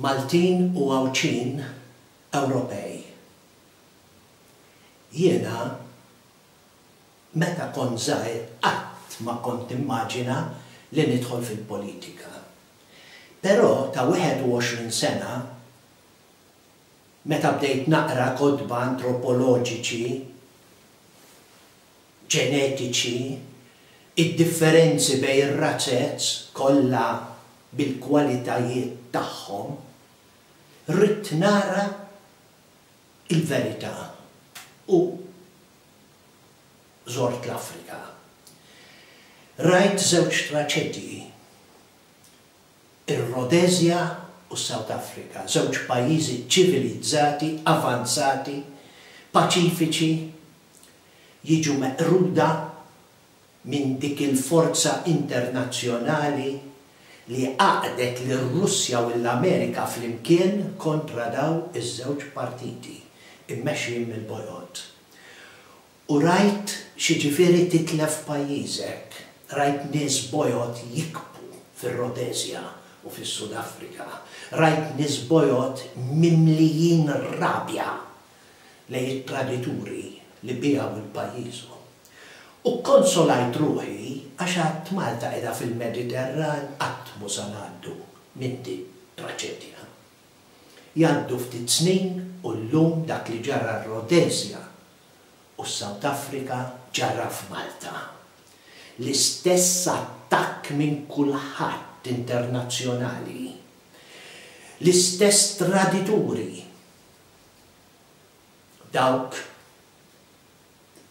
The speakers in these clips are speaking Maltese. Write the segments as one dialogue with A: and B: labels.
A: Maltin u Għawdxin Ewropej. Jiena meta kont żgħir qatt ma kont nimmaġina li nidħol fil-politika. Però ta' 21 sena meta bdejt naqra kotba antropoloġiċi, ġenetiċi, id-differenzi bejn ir-razez kollha bil-kwalitajiet tagħhom, ridt nara l-verità u żort l-Afrika. Rajt żewġ traċedji, ir-Rhodesia u s-South Africa, żewġ pajjiżi ċivilizzati, avanzati, paċifiċi, jiġu meqruda minn dik il-forza internazzjonali li għaqqdet lir-Russja u l-Amerika flimkien kontra daw iż-żewġ partiti mmexxijin mill-bojod. U rajt x'jiġifieri titlef pajjiżek. Rajt nies bojod jikbu fir-Rhodesia u fis-Sud Afrika. Rajt nies bojod mimlijin rabja lejn it-tradituri li biegħu 'l pajjiżhom. U kkonsolajt ruħi għax għedt Malta qiegħda fil-Mediterran qatt mhu sa ngħaddu minn din traċedja. Jgħaddu ftit snin u llum dak li ġara r-Rhodesia u s-South Africa ġara f'Malta. L-istess attakk minn kulħadd internazzjonali. L-istess tradituri. Dawk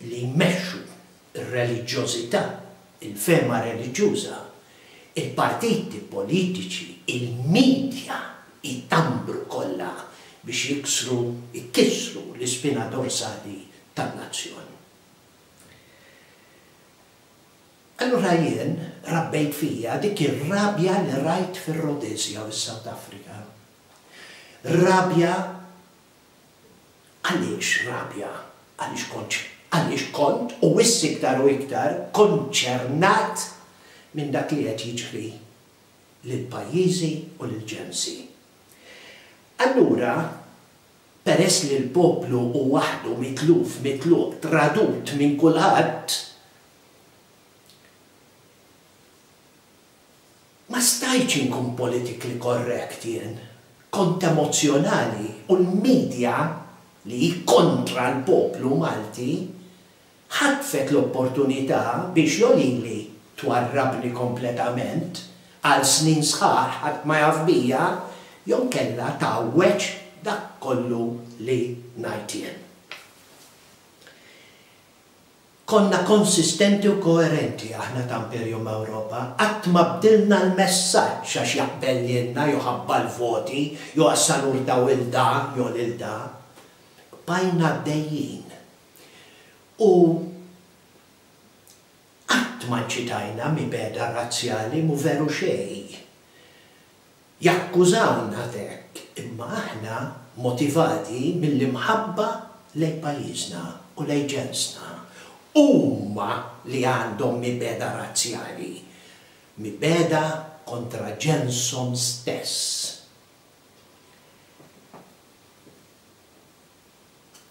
A: li jmexxu r-reliġjożità, il-fehma reliġjuża, il-partiti politiċi, il-media jtambru kollha biex jiksru, ikissru l-ispina dorsali tan-nazzjon. Allura jien rabbejt fija dik ir-rabja li rajt fir-Rhodesia u s-South Africa. Rabja Għaliex rabja? Għaliex kont għaliex kont, u issa iktar u iktar, konċernat minn dak li qed jiġri lil pajjiżi u lil ġensi. Allura, peress li l-poplu hu waħdu mitluf, mitluq, tradut minn kulħadd, Ma stajtx inkun politically correct jien. Kont emozzjonali u l-media, li hi kontra l-poplu Malti, ħatfet l-opportunità biex jo lili twarrabni kompletament għal snin sħaħ ħadd ma jaf bija, jew inkella tgħawweġ dak kollu li ngħid jien. Konna konsistenti u koerenti aħna ta' Imperium Europa, qatt ma bdilna l-messaġġ għax jaqbel lilna jew ħabba l-voti jew għax sa nurtaw 'il da jew lil da. Bqajna għaddejjin. U qatt ma nċitajna mibegħda razzjali, mhu veru xejn. Jakkużawna t'hekk, imma aħna motivati mill-imħabba lejn pajjiżna u lejn ġensna. Huma li għandhom mibegħda razzjali, mibegħda kontra ġenshom stess.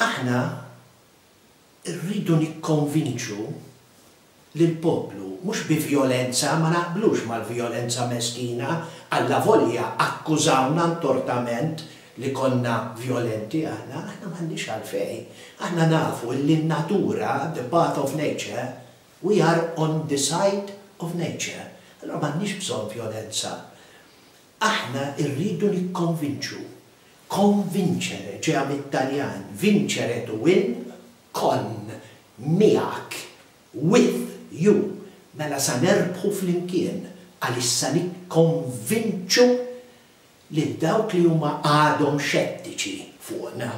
A: Aħna rridu nikkonvinċu lill-poplu, mhux bi vjolenza, ma naqblux mal-vjolenza meskina, allavolja akkużawna intortament li konna vjolenti aħna, aħna m'għandniex għalfejn. Aħna nafu illi n-natura, the path of nature, we are on the side of nature. Allura m'għandniex bżonn vjolenza. Aħna rridu nikkonvinċu. Convincere, ġejja mit-Taljan, vincere to win, con, miegħek, with you, mela sa nerbħu flimkien għaliex sa nikkonvinċu lil dawk li huma għadhom xettiċi fuqna.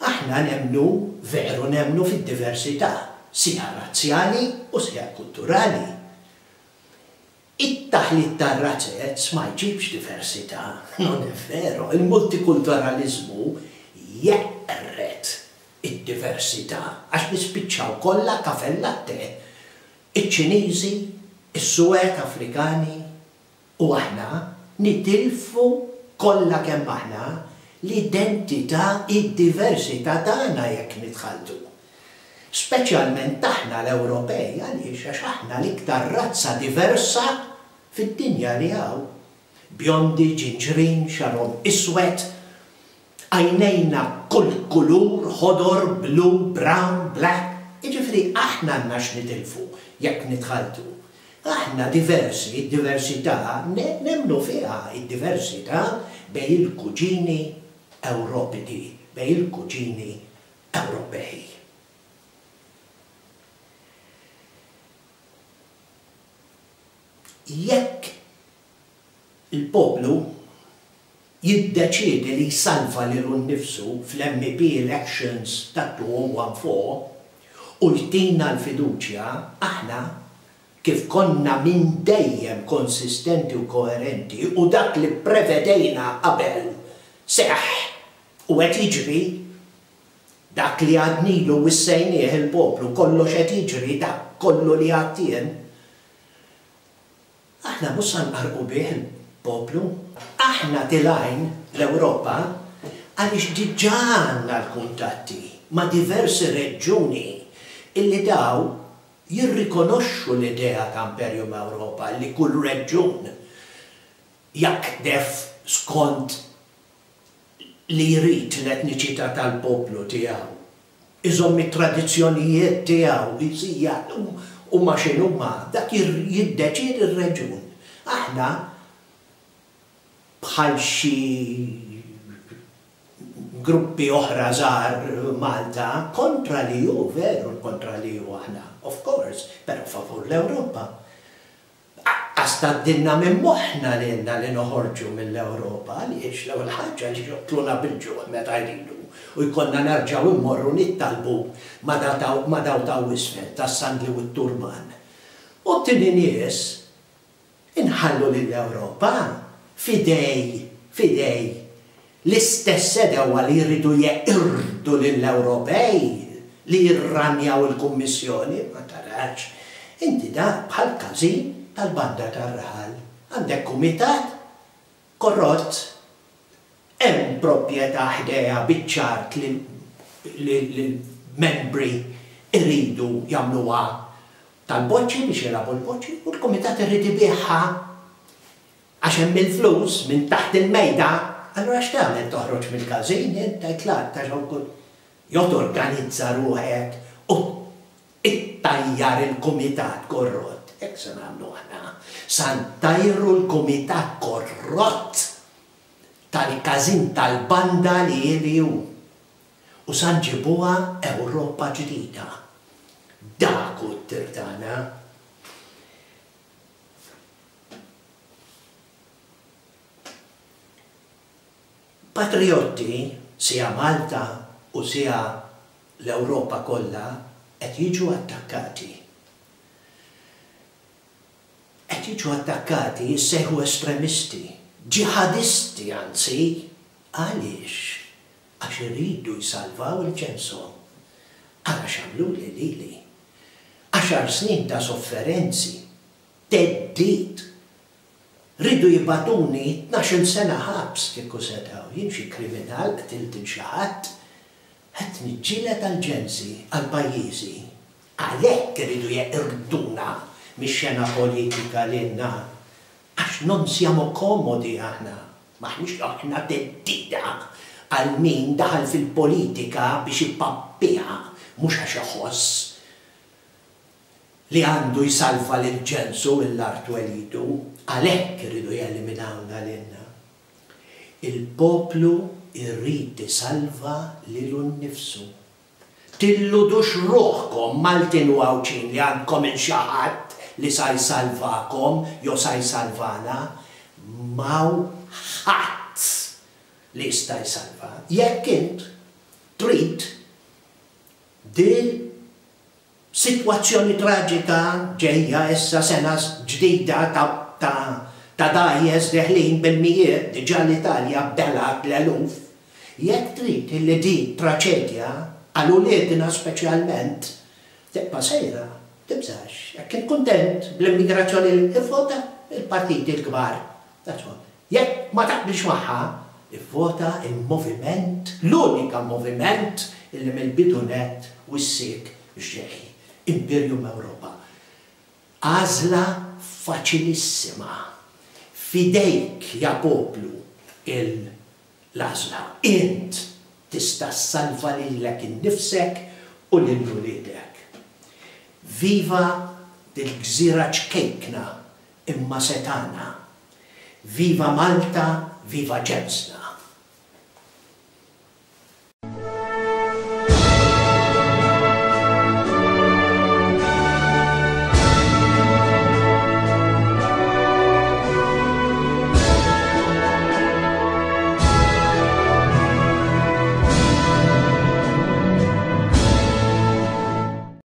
A: Aħna nemmnu, veru nemmnu fid-diversità, sija razzjali u sija kulturali. It-taħlit tar-razzez ma jġibx diversità. Non è vero. Il-multikulturaliżmu jeqred id-diversità għax nispiċċaw kollha caffè latte. Iċ-Ċiniżi, is-Suwed Afrikani u aħna Nitilfu kollha kemm aħna l-identità, id-diversità tagħna jekk nitħalltu. Speċjalment aħna l-Ewropej, għaliex? Għax aħna l-iktar razza diversa fid-dinja li hawn. Bjondi, ġinġrin, xagħarhom iswed, għajnejna kull kulur, ħodor, blu, brown, black, jiġifieri aħna għandna x'nitilfu jekk nitħalltu. Aħna diversi, id-diversità nemmnu fiha, id-diversità bejn il-kuġini Ewropidi, bejn il-kuġini Ewropej. Jekk il-poplu jiddeċiedi li jsalva lilu nnifsu fl-MEP elections tat-2014 u jtina l-fiduċja, aħna, kif konna minn dejjem konsistenti u koerenti u dak li pprevedejna qabel seħħ u qed jiġri, dak li għadnilu wissejnieh il-poplu kollox qed jiġri, dak kollu li għedt jien, Aħna mhux sa nqarrqu bih il-poplu. Aħna tilgħin l-Ewropa għaliex diġà għandna l-kuntatti ma' diversi reġjuni illi daw jirrikonoxxu l-idea ta' Imperium Europa li kull reġjun jaqdef skont li jrid l-etniċità tal-poplu tiegħu, iżomm it-tradizzjonijiet tiegħu, hija huma x'inhuma, dak jiddeċiedi r-reġjun. Aħna bħal xi gruppi oħra żgħar Malta, kontra l-EU, veru kontra l-EU aħna, of course, però favur l-Ewropa. Aqqas tgħaddilna minn moħħna lilna li noħorġu mill-Ewropa għaliex l-ewwel ħaġa għaliex joqtluna bil-ġuħ meta jridu u jkollna nerġgħu mmorru nittalbu ma' daw ta' isfel tas-sandli u t-turban. U t-tieni nies inħallu lill-Ewropa f'idej f'idej L-istess għedewwa li jridu jeqirdu lill-Ewropej, li jirranjaw il-Kummissjoni, ma tarax. Inti dak bħal każin tal-banda tar-raħal. Għandek kumitat korrott. Hemm proprjetà ħdejha biċ-ċart li l-membri jridu jagħmluha tal-boċċi biex jilagħbu l-boċċi u l-kumitat irid ibigħha. Għax hemm il-flus minn taħt il-mejda, allura x'tagħmel toħroġ mill-każin int tgħid l-art għax hawn kull jew torganizza ruħek u ttajjar il-kumitat korrott. Hekk se nagħmlu aħna. Sa ntajru l-kumitat korrott tal-każin tal-banda li hi li hu. U sa nġibuha Ewropa ġdida. Dak hu t-tir tagħna. Patrijotti, sia Malta u sia l-Ewropa kollha qed jiġu attakkati. Qed jiġu attakkati, jissejħu estremisti, ġiħadisti anzi, għaliex? Għax iridu jsalvaw il-ġenshom. Ara x'għamluli lili. Għaxar snin ta' sofferenzi, theddid. Riedu jibagħtuni tnax-il sena ħabs kieku setgħu. Jien xi kriminal qtilt 'il xi ħadd? Qed niġġieled għal ġensi, għal pajjiżi. Għalhekk iridu jeqirduna mix-xena politika lilna. Għax non siamo comodi aħna. M'aħniex aħna theddida għal min daħal fil-politika biex ipappiha mhux għax iħoss li għandu jsalva lil ġensu mill-art twelidu. Għalhekk iridu jeliminawna lilna. Il-poplu jrid isalva lilu nnifsu. Tilludux ruħkom Maltin u Għawdxin li għandkom 'il xi ħadd li sa jsalvakom jew sa jsalvana. M'hawn ħadd li jista' jsalva. Jekk int trid dil sitwazzjoni traġika ġejja issa sena ġdida ta' ta' ta' dgħajjes deħlin bil-mijiet, diġà l-Italja belgħet l-eluf. Jekk trid illi di traċedja, għal uliedna speċjalment, tibqa' sejra, tibżax. Jekk int kuntent bl-immigrazzjoni ivvota il-partiti l-kbar. That's all. Jekk ma taqbilx magħha, ivvota il-moviment, l-unika moviment illi mill-bidu nett wissiek x'ġej. Imperium Europa. Għażla faċilissima. F'idejk ja poplu il l-għażla. Int tista' ssalva lilek innifsek u lil uliedek. Viva dil-gżira ċkejkna imma setgħana. Viva Malta, viva ġensna.